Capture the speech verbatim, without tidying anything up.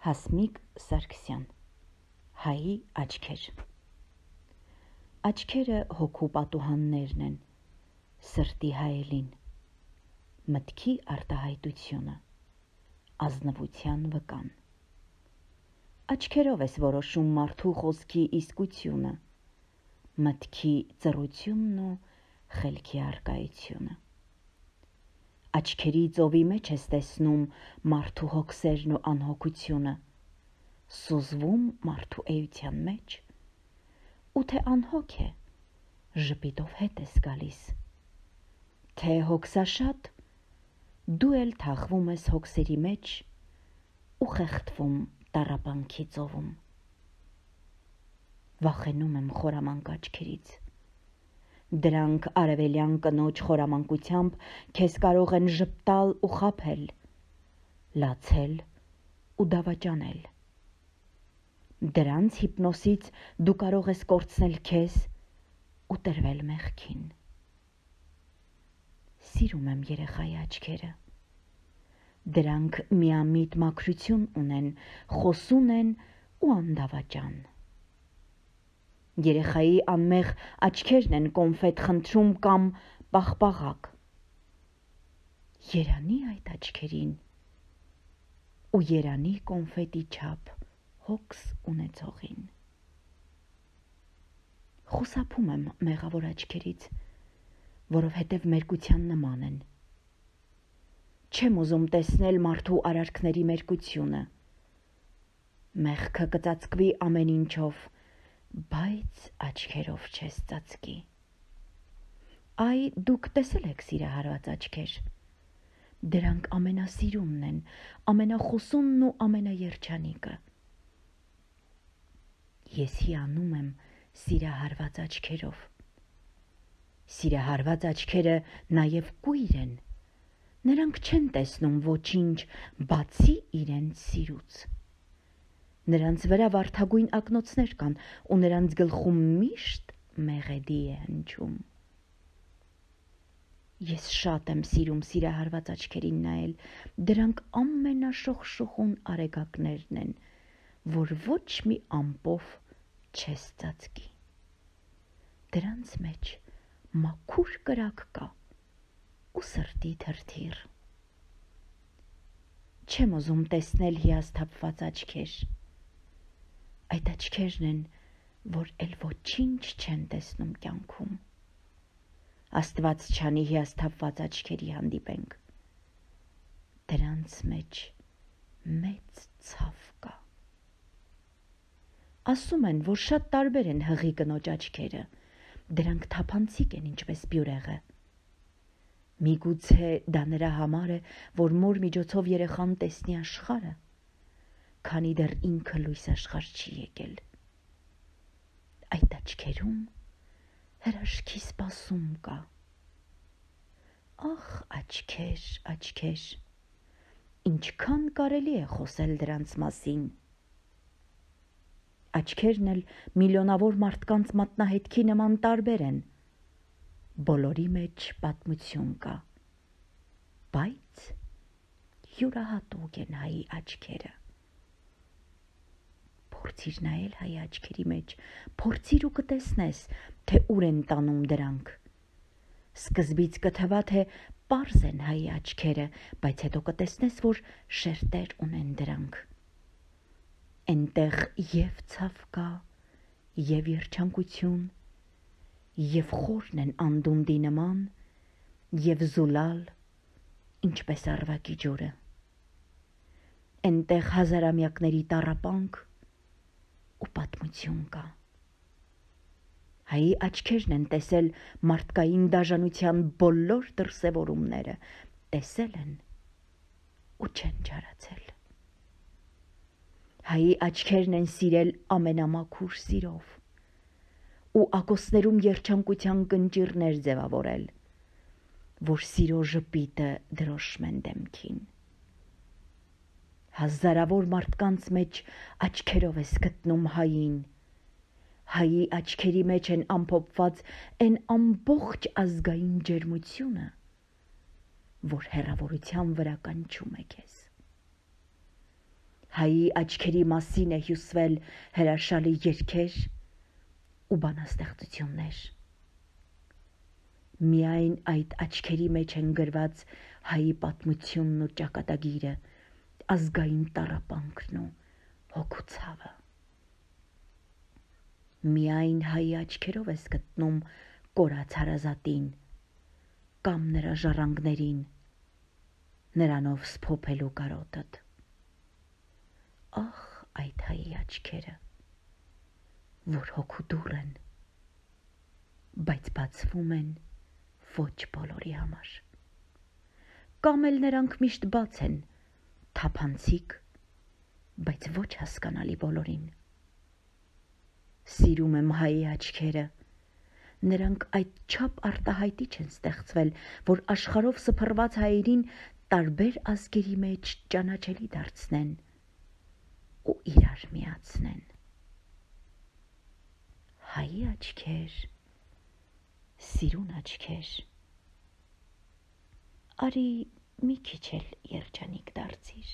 Հասմիկ Սարգսյան Հայի աչքեր Աչքերը հոգու պատուհաններն են, սրտի հայելին, մտքի արտահայտությունը, ազնվության վկան։ Աչքերով ես որոշում մարդու խոսքի իսկությունը, մտքի ծռությունն ու խելքի առկայությունը։ Աչքերի ծովի մեջ ես տեսնում մարդու հոգսերն ու անհոգությունը, սուզվում մարդու էության մեջ, ու թե անհոգ է, ժպիտով հետ ես գալիս, թե հոգսաշատ, դու էլ թաղվում ես հոգսերի մեջ ու խեղդվում տառապանքի ծովում։ Վախենում եմ խորամանկ աչքերից, դրանք արևելյան կնոջ խորամանկությամբ քեզ կարող են ժպտալ ու խաբել, լացել ու դավաճանել։ Դրանց հիպնոսից դու կարող ես կորցնել քեզ ու տրվել մեղքին։ Սիրում եմ երեխայի աչքերը, դրանք միամիտ մաքրություն ունեն, խոսուն են ու անդավաճան։ Երեխայի անմեղ աչքերն են կոնֆետ խնդրում կամ պաղպաղակ։ Երանի այդ աչքերին ու երանի կոնֆետի չափ հոգս ունեցողին։ Խուսափում եմ մեղավոր աչքերից, որովհետև մերկության նման են։ Չեմ ուզում տեսնել մարդու արարքների մերկությունը։ Մեղքը կծածկվի ամեն ինչով, բայց աչքերով չես ծածկի։ Այ դուք տեսել եք սիրահարված աչքեր։ Դրանք ամենասիրունն են, ամենախոսունն ու ամենաերջանիկը։ Ես հիանում եմ սիրահարված աչքերով։ Սիրահարված աչքերը նաև կույր են։ Նրանք չեն տեսնում ոչինչ, բացի իրենց սիրուց։ Նրանց վրա վարդագույն ակնոցներ կան ու նրանց գլխում միշտ մեղեդի է հնչում։ Ես շատ եմ սիրում սիրահարված աչքերին նայել, դրանք ամենաշողշողուն արեգակներն են, որ ոչ մի ամպով չես ծածկի։ Դրանց մեջ մաքուր կրակ կա ու սրտի թրթիռ։ Չեմ ուզում տեսնել հիասթափված աչքեր։ Այդ աչքերն են, որ էլ ոչինչ չեն տեսնում կյանքում։ Աստված չանի հիասթափված աչքերի հանդիպենք։ Դրանց մեջ մեծ ցավ կա։ Ասում են, որ շատ տարբեր են հղի կնոջ աչքերը, դրանք թափանցիկ են ինչպես բյուրեղը։ Միգուցե դա նրա համար է, որ մոր միջոցով երեխան տեսնի աշխարհը, քանի դեռ ինքը լույս աշխարհ չի եկել։ Այդ աչքերում հրաշքի սպասում կա։ Ախ, աչքեր, աչքեր, ինչքան կարելի է խոսել դրանց մասին։ Աչքերն էլ միլիոնավոր մարդկանց մատնահետքի նման տարբեր են։ Բոլորի մեջ պատմություն կա, բայց յուրահատուկ են հայի աչքերը։ Փորձիր նայել հայի աչքերի մեջ, փորձիր ու կտեսնես, թե ուր են տանում դրանք։ Սկզբից կթվա, թե պարզ են հայի աչքերը, բայց հետո կտեսնես, որ շերտեր ունեն դրանք։ Էնտեղ և ցավ կա, և երջանկություն, և խորն են անդունդի նման, և զուլալ, ինչպես առվակի ջուրը։ Էնտեղ հազարամյակների տառապանք ու պատմություն կա։ Հայի աչքերն են տեսել մարդկային դաժանության բոլոր դրսևորումները, տեսել են ու չեն ջարացել։ Հայի աչքերն են սիրել ամենամաքուր սիրով ու ակոսներում երջանկության կնճիռներ ձևավորել, որ սիրո ժպիտը դրոշմեն դեմքին։ Հազարավոր մարդկանց մեջ աչքերով ես գտնում հային, հայի աչքերի մեջ են ամփոփված այն ամբողջ ազգային ջերմությունը, որ հեռավորության վրա կանչում է քեզ։ Հայի աչքերի մասին է հյուսվել հրաշալի երգեր ու բանաստեղծություններ։ Միայն այդ աչքերի մեջ են գրված հայի պատմությունն ու ճակատագիրը, ազգային տառապանքն ու հոգու ցավը։ Միայն հայի աչքերով ես գտնում կորած հարազատին կամ նրա ժառանգներին, նրանով սփոփելու կարոտդ։ Ախ, այդ հայի աչքերը, որ հոգու դուռ են, բայց բացվում են ոչ բոլորի համար։ Կամ էլ նրանք միշտ բաց են, թափանցիկ, բայց ոչ հասկանալի բոլորին։ Սիրում եմ հայի աչքերը, նրանք այդչափ արտահայտիչ են ստեղծվել, որ աշխարհով սփռված հայերին տարբեր ազգերի մեջ ճանաչելի դարձնեն ու իրար միացնեն։ Հայի աչքեր, սիրուն աչքեր, արի մի քիչ էլ երջանիկ դարձիր։